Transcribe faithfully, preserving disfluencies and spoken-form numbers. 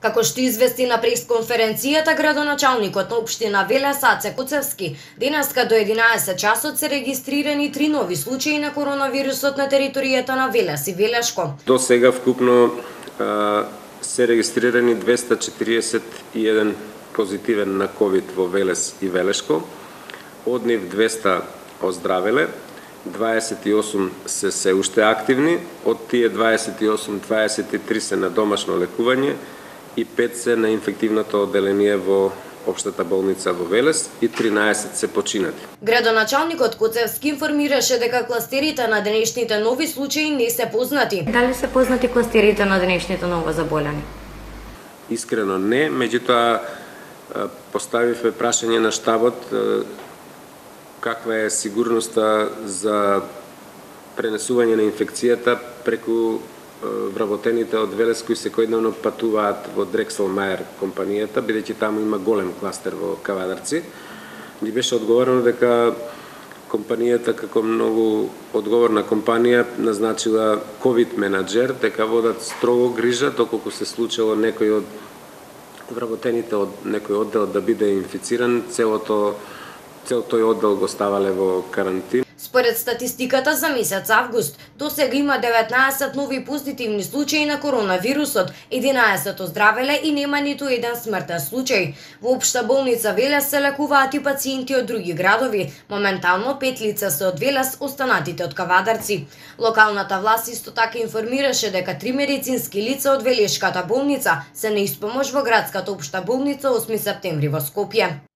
Како што извести на пресконференцијата градоначалникот на општина Велес Аце Коцевски, денеска до единаесет часот се регистрирани три нови случаи на коронавирусот на територијата на Велес и Велешко. До сега вкупно а, се регистрирани двеста четириесет и еден позитивен на ковид во Велес и Велешко, од нив двеста оздравеле, дваесет и осум се се уште активни, од тие дваесет и осум, дваесет и три се на домашно лекување и пет се на инфективното одделение во Општата болница во Велес и тринаесет се починати. Градоначалникот Коцевски информираше дека кластерите на денешните нови случаи не се познати. Дали се познати кластерите на денешните новозаболени? Искрено не, меѓутоа поставивме прашање на штабот каква е сигурноста за пренесување на инфекцијата преку вработените од Велес кои секојдневно патуваат во Дрексел Мајер компанијата, бидејќи таму има голем кластер во Кавадарци. Ни беше одговорено дека компанијата како многу одговорна компанија назначила ковид менаџер, дека водат строго грижа доколку се случило некој од вработените од некој оддел да биде инфициран, целото цел тој оддел го ставале во карантин. Според статистиката за месец август, досега има деветнаесет нови позитивни случаи на коронавирусот, единаесет оздравеле и нема ниту еден смртен случај. Во Општа болница Велес се лекуваат и пациенти од други градови. Моментално пет лица се од Велес, останатите од Кавадарци. Локалната власт исто така информираше дека три медицински лица од Велешката болница се на испомош во градската Општа болница осми септември во Скопје.